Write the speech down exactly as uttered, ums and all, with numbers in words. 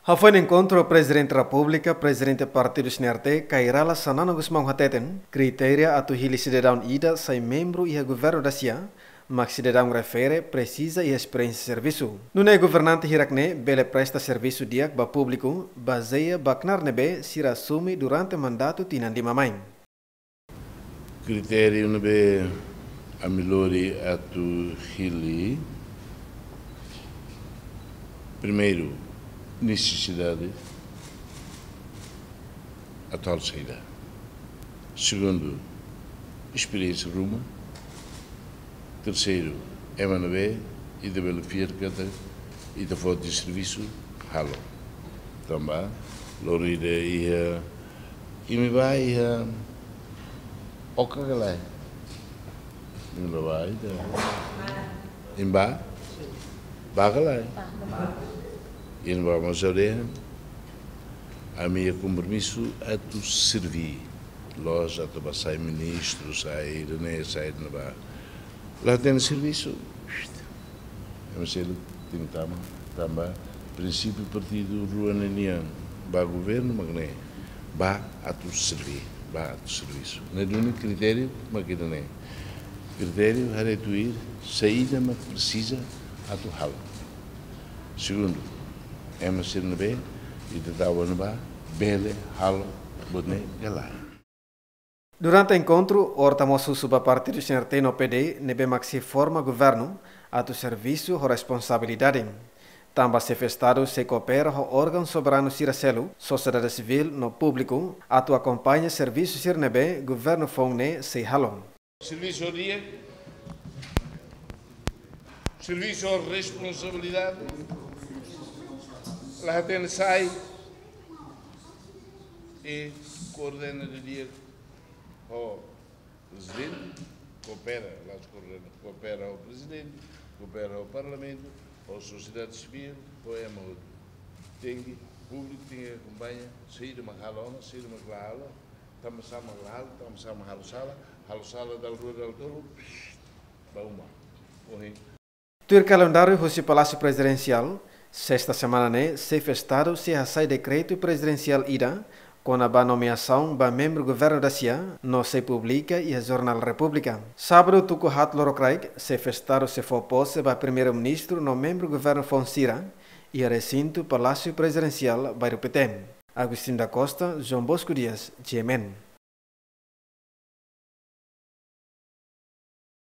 Hafoin enkontru, Prezidente Repúblika, Prezidente Partidu C N R T, Kay Rala Xanana Gusmão hateten, kritéria atu hili sidadaun ida sai membru iha governu dasia, mak sidadaun refere presiza iha esperiénsia servisu. Nune'e governante hirak-ne'e bele presta servisu di'ak ba públiku, bazeia ba knaar ne'ebé sira asume durante mandatu tinan lima mai. Kritériu ne'ebé ami lori atu hili, primeiru, nesesidade atuál saida. Segundu, esperiénsia ruma. Terseiru, ema ne'ebé ita bele fiar katak ita foti servisu halo. Tanba loron ida iha, imi bá iha Oka ka lae? Imi bá ida. Imi bá? Bá ka lae? Imi bá mós aldeia. Ami iha kompromisu atu serví. La'ós atu bá sai ministru, sai ida-ne'e, sai ida-ne'ebá. La hatene servisu. Ema seluk tenke tama, tanba prinsípiu partidu rua ne'e nian, bá governu mak ne'e, bá atu serví, bá atu servisu. Ne'e duni kritériu mak ida-ne'e. Kritériu haree tuir saida mak presiza atu halo. Segundu, ema sira ne'ebé ita tau ona bá bele halo buat ne'e ka lae. Durante enkontru, Horta mós husu ba partidu C N R T no P D, ne'ebé mak sei forma governu, atu servisu ho responsabilidade. Tanba Xefe Estadu sei koopera ho órgaun soberanu sira seluk, sosiedade sivíl no públiku, atu akompaña servisu sira ne'ebé governu foun ne'e sei halo. Servisu ho di'ak, servisu ho responsabilidade, la hatene sai, i koordena didi'ak ho prezidente, koopera, la'ós koordena, koopera ho prezidente, koopera ho parlamentu, ho sosiedade sivíl, ho ema hotu. Tenke, públiku tenke akompaña, saida mak halo ona, saida mak la halo, tanba sá mak la halo, tanba sá mak halo sala, halo sala dala rua dala tolu, psh, bá uma. Ohin. Tuir kalendáriu husi Palásiu Prezidensiál, sesta semana ne'e, Xefe Estadu sei hasai dekretu prezidensiál ida kona-ba nomeasaun ba membru governu dasia, no sei publika iha Jornál Repúblika. Sábadu tuku haat lorokraik, Xefe Estadu sei fó pose ba Primeiru-Ministru no membru governu foun sira, iha resintu Palásiu Prezidensiál, Bairru Pité. Agostinho da Costa, João Bosco Dias, G M N.